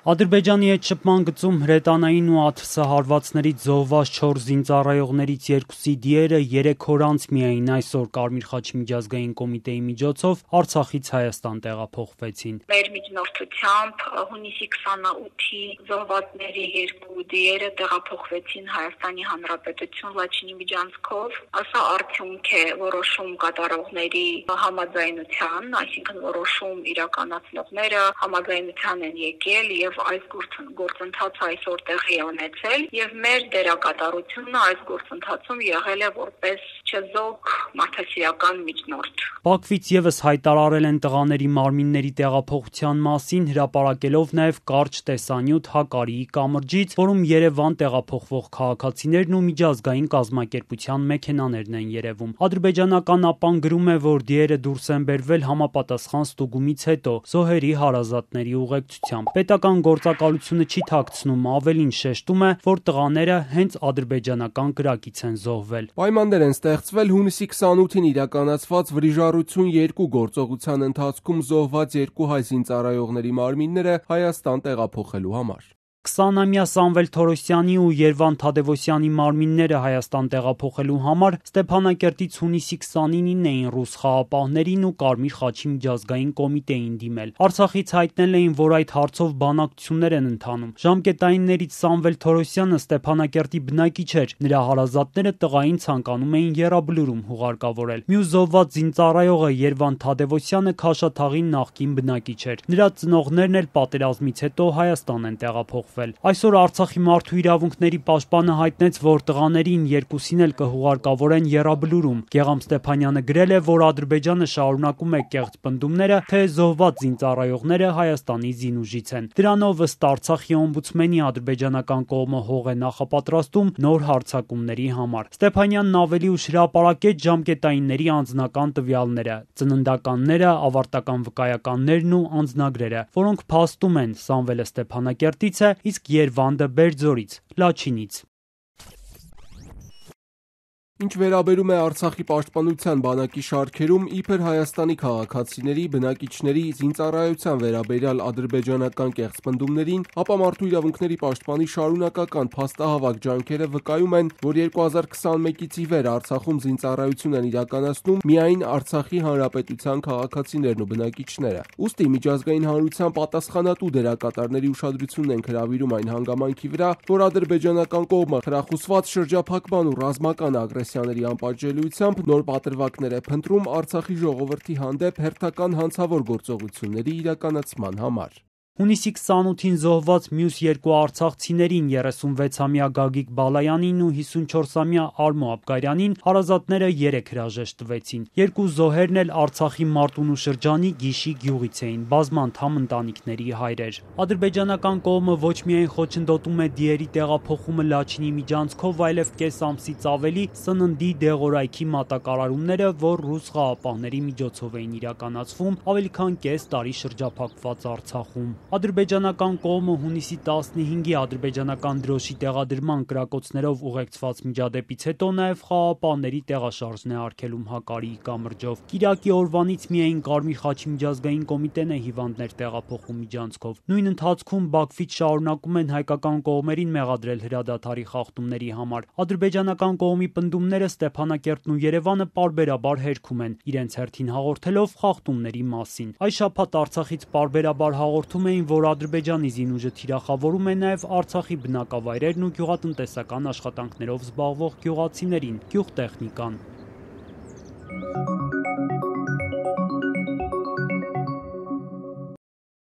Ադրբեջանի հետ շփման գծում հրետանային ու ԱԹՍ-հարվածներից զոհված 4 զինծառայողներից 2-ի դիերը 3 օր անց միայն այսօր Կարմիր խաչի միջազգային կոմիտեի միջոցով Արցախից Հայաստան տեղափոխվեցին։ Մեր միջնորդությամբ հունիսի 28-ի զոհվածների 2 դիերը տեղափոխվեցին Հայաստանի Հանրապետություն Լաչինի միջանցքով։ Սա արդյունք է որոշում կատարողների համաձայնության, այսինքն որոշում իրականացնողները համաձայնության են եկել եւ այս գործընթացը այսօր տեղի է ունեցել եւ մեր դերակատարությունը այս գործընթացում եղել է որպես չեզոք մարդասիրական միջնորդ։ Բաքվից եւս հայտարարել են տղաների մարմինների տեղափոխության մասին, հրապարակելով նաեւ կարճ տեսանյութ Հակարիի կամրջից, որում Երևան տեղափոխվող քաղաքացիներն ու միջազգային կազմակերպության մեքենաներն են երևում։ Ադրբեջանական ԱՊԱ-ն գրում է, որ դիերը դուրս են բերվել համապատասխան ստուգումից հետո զոհերի հարազատների ուղեկցությամբ։ Պետական գործակալությունը չի թաքցնում, ավելին շեշտում է, որ տղաները հենց ադրբեջանական կրակից են զոհվել։ Պայմաններ են ստեղծվել հունիսի 28-ին իրականացված վրիժառություն 2 գործողության ընթացքում զոհված 2 հայ զինծառայողների մարմինները Հայաստան տեղափոխելու համար։ 20-ամյա Սամվել Թորոսյանի ու Երվանդ Թադևոսյանի մարմինները Հայաստան տեղափոխելու համար Ստեփանակերտից հունիսի 29-ին էին ռուս խաղապահներին ու Կարմիր խաչի միջազգային կոմիտեին դիմել։ Արցախից հայտնել էին, որ այդ հարցով բանակցություններ են ընթանում։ Ժամկետայիններից Սամվել Թորոսյանը Ստեփանակերտի բնակիչ էր, նրա հարազատները տղային ցանկանում էին եռաբլուրում հուղարկավորել։ Մյուս զոհված զինծառայողը Երվանդ Թադևոսյանը Քաշաթաղի նախկին բնակիչ էր։ Նրա ծնողներն էլ պատերազմից հետո Հայաստան են տեղափոխվել։ Այսօր Արցախի մարդու իրավունքների պաշտպանը հայտնեց, որ տղաներին 2-ին էլ կհուղարկավորեն եռաբլուրում։ Գեգամ Ստեփանյանը գրել է, որ Ադրբեջանը շարունակում է կեղծ պնդումները, թե զոհված զինծառայողները Հայաստանի զինուժից են։ Դրանով ըստ Արցախի օմբուդսմենի ադրբեջանական կողմը հող է նախապատրաստում նոր հարձակումների համար։ Ստեփանյանն ավելի ուշ հրապարակեց ժամկետայինների անձնական տվյալները, ծննդականները, ավարտական վկայականներն ու անձնագրերը, որոնք փաստում են Սամվելը Ստեփանակերտից է, իսկ Երվանդը Բերձորից, Լաչինից։ Ինչ վերաբերում է Արցախի պաշտպանության բանակի շարքերում իբր Հայաստանի քաղաքացիների, բնակիչների զինծառայության վերաբերյալ ադրբեջանական կեղծ պնդումներին, ապա մարդու իրավունքների պաշտպանի շարունակական փաստահավաք ջանքերը վկայում են, որ 2021-ից ի վեր Արցախում զինծառայություն են իրականացնում միայն Արցախի հանրապետության քաղաքացիներն ու բնակիչները։ Ուստի միջազգային հանրության պատասխանատու դերակատարների ուշադրությունն են հրավիրում այն հանգամանքի վրա, որ ադրբեջանական կողմը խրախուսված շրջափակման ու ռազմական ագրեսիաների անպատժելիությամբ նոր պատրվակներ է փնտրում Արցախի ժողովրդի հանդեպ հերթական հանցավոր գործողությունների իրականացման համար։ Հունիսի 28-ին զոհված մյուս 2 արցախցիներին 36-ամյա Գագիկ Բալայանին ու 54-ամյա Արմո Աբգարյանին հարազատները 3 հրաժեշտ տվեցին։ 2 զոհերն էլ Արցախի Մարտունու շրջանի Գիշի գյուղից էին, բազմանդամ ընտանիքների հայրեր։ Ադրբեջանական կողմը ոչ միայն խոչընդոտում է դիերի տեղափոխումը Լաչինի միջանցքով, այլև կես ամսից ավելի սննդի դեղորայքի մատակարարումները, որ ռուս խաղապահների միջոցով էին իրականացվում ավելի քան կես տարի շրջափակված Արցախում։ Ադրբեջանական կողմը հունիսի 15-ի ադրբեջանական դրոշի տեղադրման կրակոցներով ուղեկցված միջադեպից հետո նաև խաղապահների տեղաշարժն է արգելում Հակարիի կամրջով։ Կիրակի օրվանից միայն Կարմիր խաչի միջազգային կոմիտեն է հիվանդներ տեղափոխում միջանցքով։ Նույն ընթացքում Բաքվից շարունակում են հայկական կողմերին մեղադրել հրադադարի խախտումների համար։ Ադրբեջանական կողմի պնդումները Ստեփանակերտն ու Երևանը պարբերաբար հերքում են, իրենց հերթին հաղորդելով խախտումների մասին։ Այս շաբաթ Արցախից պարբերաբար հաղորդում էին, որ Ադրբեջանի զինուժը թիրախավորում է նաև Արցախի բնակավայրերն ու գյուղատնտեսական աշխատանքներով զբաղվող գյուղացիներին, գյուղտեխնիկան։